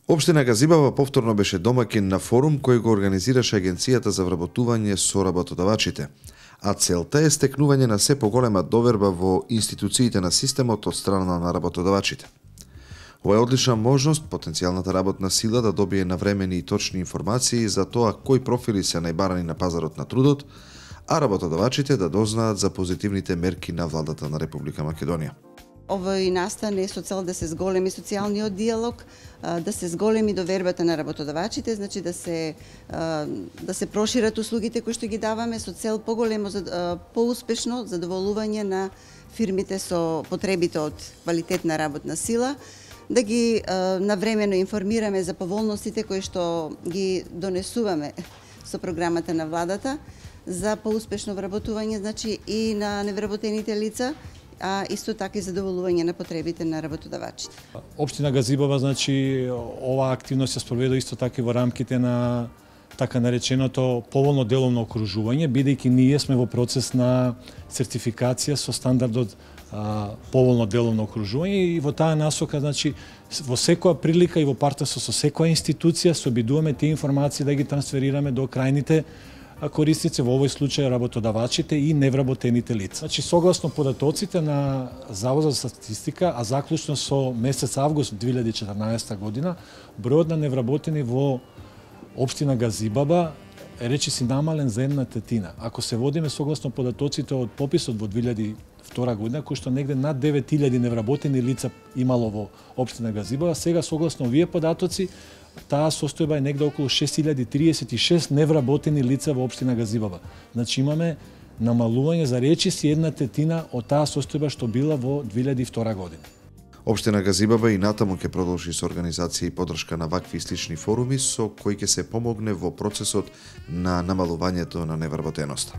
Општина Газибава повторно беше домаќин на форум кој го организираше Агенцијата за вработување со работодавачите, а целта е стекнување на се поголема доверба во институциите на системот од страна на работодавачите. Ова е одлична можност потенцијалната работна сила да добие навремени и точни информации за тоа кои профили се најбарани на пазарот на трудот, а работодавачите да дознаат за позитивните мерки на владата на Република Македонија. Овој настан е со цел да се зголеми социјалниот диалог, да се зголеми довербата на работодавачите, значи да се прошират услугите кои што ги даваме со цел поуспешно задоволување на фирмите со потребите од квалитетна работна сила, да ги навремено информираме за поволностите кои што ги донесуваме со програмата на владата за поуспешно вработување, значи и на невработените лица, а исто така и задоволување на потребите на работодавачите. Општина Газибава, значи, оваа активност се спроведе исто така и во рамките на така нареченото поволно деловно окружување, бидејќи ние сме во процес на сертификација со стандардот поволно деловно окружување и во таа насока, значи, во секоја прилика и во партнерство со секоја институција се обидуваме тие информации да ги трансферираме до крајните корисници, во овој случај работодавачите и невработените лица. Значи, согласно податоците на Завод за статистика, а заклучно со месец август 2014 година, бројот на невработени во општина Газибаба е речиси намален за 1/3. Ако се водиме согласно податоците од пописот во 2002 година, кој што негде над 9000 невработени лица имало во општина Газибаба, сега согласно овие податоци таа состојба е негде околу 6036 невработени лица во општина Газибаба. Значи имаме намалување за речиси 1/3 од таа состојба што била во 2002 година. Општина Газибаба и натаму ќе продолжи со организација и поддршка на вакви и слични форуми со кои ќе се помогне во процесот на намалувањето на невработеноста.